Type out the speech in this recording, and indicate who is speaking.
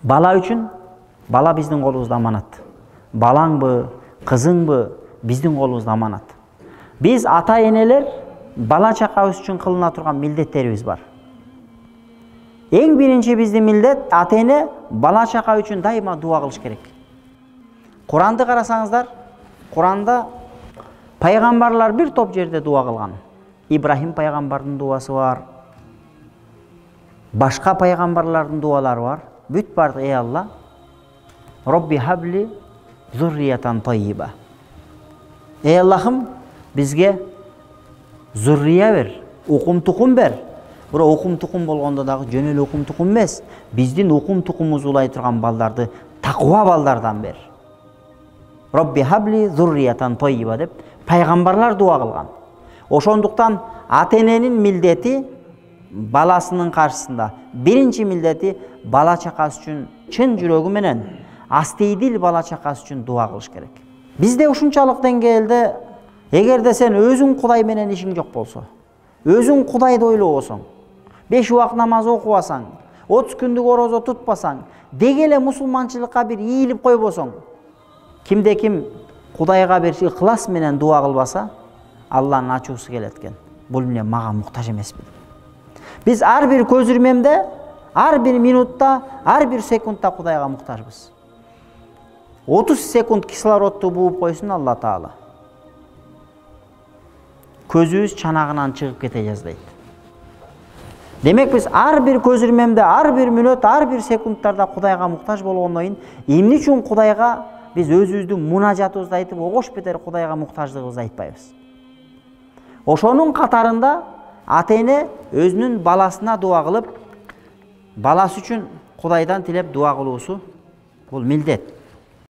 Speaker 1: Бала үчүн бала биздин колубузда аманат. Балаңбы, кызыңбы биздин колубузда аманат. Биз ата энелер бала чакабыз үчүн кылына турган милдеттерибиз бар. Эң биринчи биздин милдет ата эне бала чака үчүн дайыма дуа кылыш керек. Куранды карасаңыздар, Куранда пайгамбарлар бир топ жерде дуа кылган. Ибрахим пайгамбардын дуасы бар. Башка пайгамбарлардын дуалары бар. Бүт бардык: ey Алла, Робби хабли зурриятан тайиба. Ey Аллахым, бизге зуррия бер, укум тукум бер. Бирок укум тукум болгондо дагы жөн эле укум тукум эмес, биздин укум тукумубузду улай турган балдарды таква балдардан бер. Робби хабли зурриятан тайиба деп пайгамбарлар дуа кылган. Ошондуктан ата эненин милдети баласынын каршысында биринчи милдети бала чакасы үчүн чын жүрөгү менен астейдил бала чакасы үчүн дуа кылыш керек. Бизде ушунчалык деңгээлде эгерде сен өзүң Кудай менен ишиң жок болсо, өзүң Кудайды ойлобосоң, 5 убак намаз окубасаң, 30 күндүк орозо тутпасаң, деги эле мусулманчылыкка бир ийилип койбосоң, кимде ким Кудайга бир ыклас менен дуа кылбаса, Алланын ачуусу келет экен. Бул эмне мага муктаж эмесмин. Биз ар бир көз ирмемде, ар бир минутта, ар бир секундта Кудайга муктажбыз. 30 секунд кислородду бууп койсун Алла Таала. Көзүбүз чанагынан чыгып кете жаздайт. Демек биз ар бир көз ирмемде, ар бир мүнөт, ар бир секундтарда Кудайга муктаж болгондон кийин эмне үчүн Кудайга биз өзүбүздүн мунажатыбызды айтып, огош бетер Кудайга муктаждыгыбызды айтпайбыз? Ошонун катарында ата эне өзүнүн баласына дуа кылып, баласы үчүн Кудайдан тилеп дуа кылуусу бул милдет.